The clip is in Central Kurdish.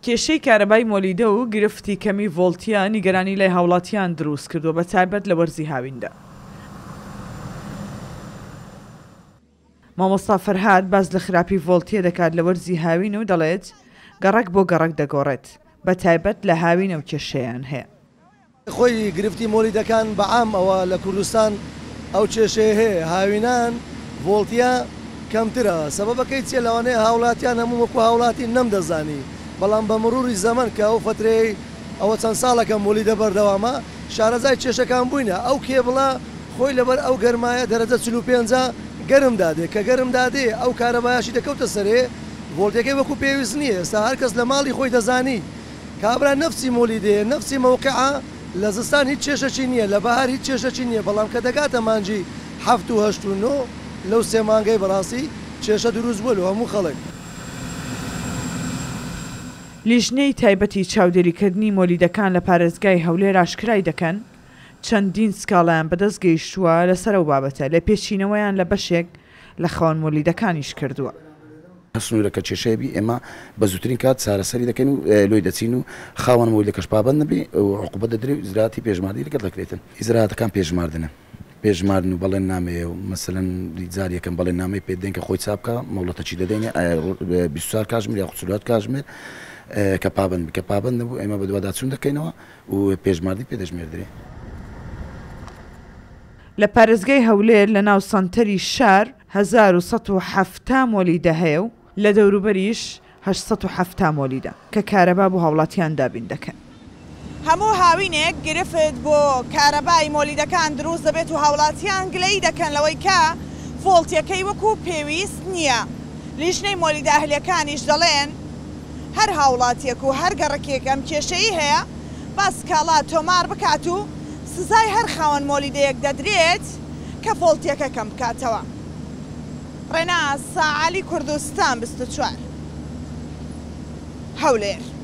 کێشەی کارەبای مۆلیدە و گرفتی کەمی ڤۆڵتیە نیگەرانی لای هاوڵاتیان دروست کردووە بە تایبەت لە وەرزی هاویندا. مامۆستا فەرهاد باس لە خراپی ڤۆڵتیە دەکات لە وەرزی هاوین و دەڵێت، گەڕەک بۆ گەڕەک دەگۆڕێت، بە تایبەت لە هاوین ئەو کێشەیەیان هەیە. خۆی گرفتی مۆلیدەکان بە عام ئەوە لە کوردستان ئەو کێشەیە هەیە هاوینان ڤۆڵتیە کەمترە سەبەبەکەی چیە لەوانەیە هاوڵاتیان هەموو وەکو هاوڵاتی نەمدەزانی بەڵام بە مروری زەمەن کە ئەو فەترەیەی ئەوە چەند ساڵەکە مۆلیدە بەردەوامە شارەزای کێشەکان بووینە ئەو کێبڵە خۆی لەبەر ئەو گەرمایە دەرەجە 45 گەرم دادێ کە گەرم دادێ ئەو کارەبایەشی دەکەوتە سەرێ ڤۆڵتیەکەی وەکو پێویست نیە ئێستا هەرکەس لە ماڵی خۆی دەزانی کابرا نەفسی مۆلیدەیە نەفسی مەوقعە لە زستان هیچ کێشەکی نیە لە بەهار هیچ کێشەکی نیە بەڵام کە دەگاتە مانگی حەفت و هەشت و نۆ لەو سێ مانگەی بەڕاستی کێشە دروست بووە لۆ هەموو خەڵک. لیژنەی تایبەتی چاودێریکردنی مۆلیدەکان لە پارێزگای هەولێر ئاشکرای دەکەن، چەندین سکاڵایان بەدەست گەیشتووە لەسەر ئەو بابەتە، لێپێچینەوەیان لە بەشێک لە خاوەن مۆلیدەکانیش کردووە. هەر سنوورەکە کێشەیە بی ئێمە بە زووترین کات چارەسەری دەکەین و لۆی دەچین و خاوەن مۆلیدەکەش پابەند نەبی عقوبەت دەدرێ و ئیجرائاتی پێشماردنی لەگەڵ دەکرێتن. ئیجرائاتەکان پێشماردنن. پێشماردن و بەڵێن نامەیە و مەسەلەن جار یەکەم بەڵێن نامەی پێ دەدەین کە خۆی چاپ بکا مۆڵەتەکی دەدەینێ ئایا 24 کاژمێر یاخود 48 کاژمێر کە پابەند بی کە پابەند نەبوو ئێمە بەدواداچوون دەکەینەوە و پێشماردنی پێ دەژمێردرێ. لە پارێزگای هەولێر لە ناو سەنتەری شار 1170 مۆلیدە هەیە و لە دەوروبەریش 870 مۆلیدە کە کارەبا بۆ هاوڵاتیان دابین دەکەن. هەموو هاوینێک گرفت بۆ کارەبای مۆلیدەکان دروست دەبێت و هاوڵاتیان گلەیی دەکەن لەوەی کە ڤۆڵتیەکەی وەکو پێویست نییە. لیژنەی مۆلیدە ئەهلیەکانیش دەڵێن، هەر هاوڵاتیەک و هەر گەڕەکێک ئەم کێشەی هەیە با سکاڵا تۆمار بکات و سزای هەر خاوەن مۆلیدەیەک دەدرێت کە ڤۆڵتیەکە کەم بکاتەوە. ڕێناس عەلی کوردستان 24 هەولێر.